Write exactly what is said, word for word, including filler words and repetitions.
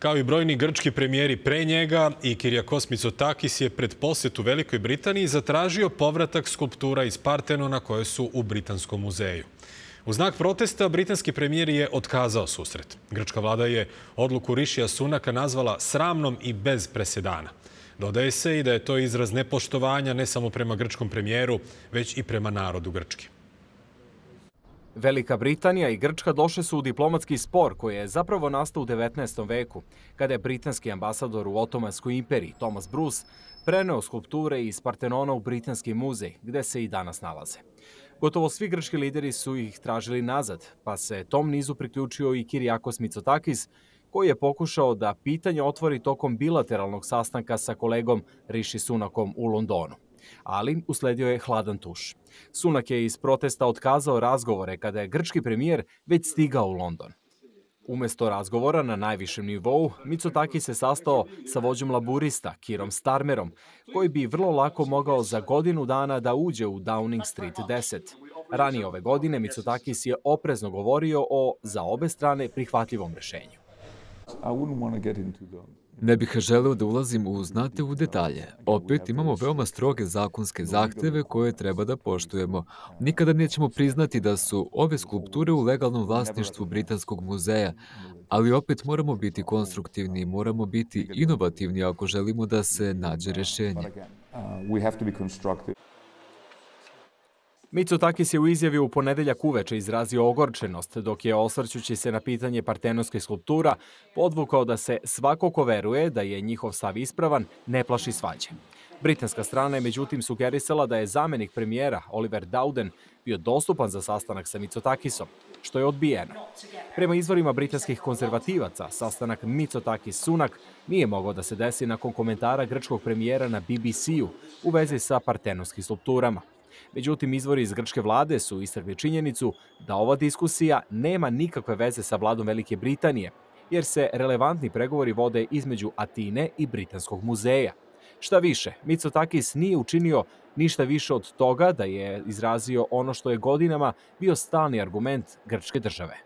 Kao i brojni grčki premijeri pre njega, i Kyriakos Mitsotakis je pred posjetu Velikoj Britaniji zatražio povratak skulptura iz Partenona koje su u Britanskom muzeju. U znak protesta, britanski premijer je otkazao susret. Grčka vlada je odluku Rišija Sunaka nazvala sramnom i bez presedana. Dodaje se i da je to izraz nepoštovanja ne samo prema grčkom premijeru, već i prema narodu Grčke. Velika Britanija i Grčka došle su u diplomatski spor koji je zapravo nastao u devetnaestom veku, kada je britanski ambasador u Otomanskoj imperiji Thomas Bruce preneo skulpture iz Partenona u Britanski muzej, gde se i danas nalaze. Gotovo svi grčki lideri su ih tražili nazad, pa se tom nizu priključio i Kyriakos Mitsotakis, koji je pokušao da pitanje otvori tokom bilateralnog sastanka sa kolegom Rishi Sunakom u Londonu. Ali usledio je hladan tuš. Sunak je iz protesta otkazao razgovore kada je grčki premijer već stigao u London. Umesto razgovora na najvišem nivou, Mitsotakis se sastao sa vođom laburista, Kierom Starmerom, koji bi vrlo lako mogao za godinu dana da uđe u Downing Street deset. Ranije ove godine Mitsotakis je oprezno govorio o za obe strane prihvatljivom rešenju. Ne bih želeo da ulazim u znate u detalje. Opet imamo veoma stroge zakonske zahteve koje treba da poštujemo. Nikada nećemo priznati da su ove skulpture u legalnom vlasništvu Britanskog muzeja, ali opet moramo biti konstruktivni, moramo biti inovativni ako želimo da se nađe rešenje. Mitsotakis je u izjavi u ponedeljak uveče izrazio ogorčenost, dok je, osvrćući se na pitanje partenonskih skulptura, podvukao da se svako ko veruje da je njihov stav ispravan, ne plaši svađe. Britanska strana je međutim sugerisala da je zamenik premijera Oliver Dowden bio dostupan za sastanak sa Mitsotakisom, što je odbijeno. Prema izvorima britanskih konzervativaca, sastanak Mitsotakis-Sunak nije mogao da se desi nakon komentara grčkog premijera na B B C-u u vezi sa partenonskim skulpturama. Međutim, izvori iz grčke vlade su istakli činjenicu da ova diskusija nema nikakve veze sa vladom Velike Britanije, jer se relevantni pregovori vode između Atine i Britanskog muzeja. Šta više, Mitsotakis nije učinio ništa više od toga da je izrazio ono što je godinama bio stalni argument grčke države.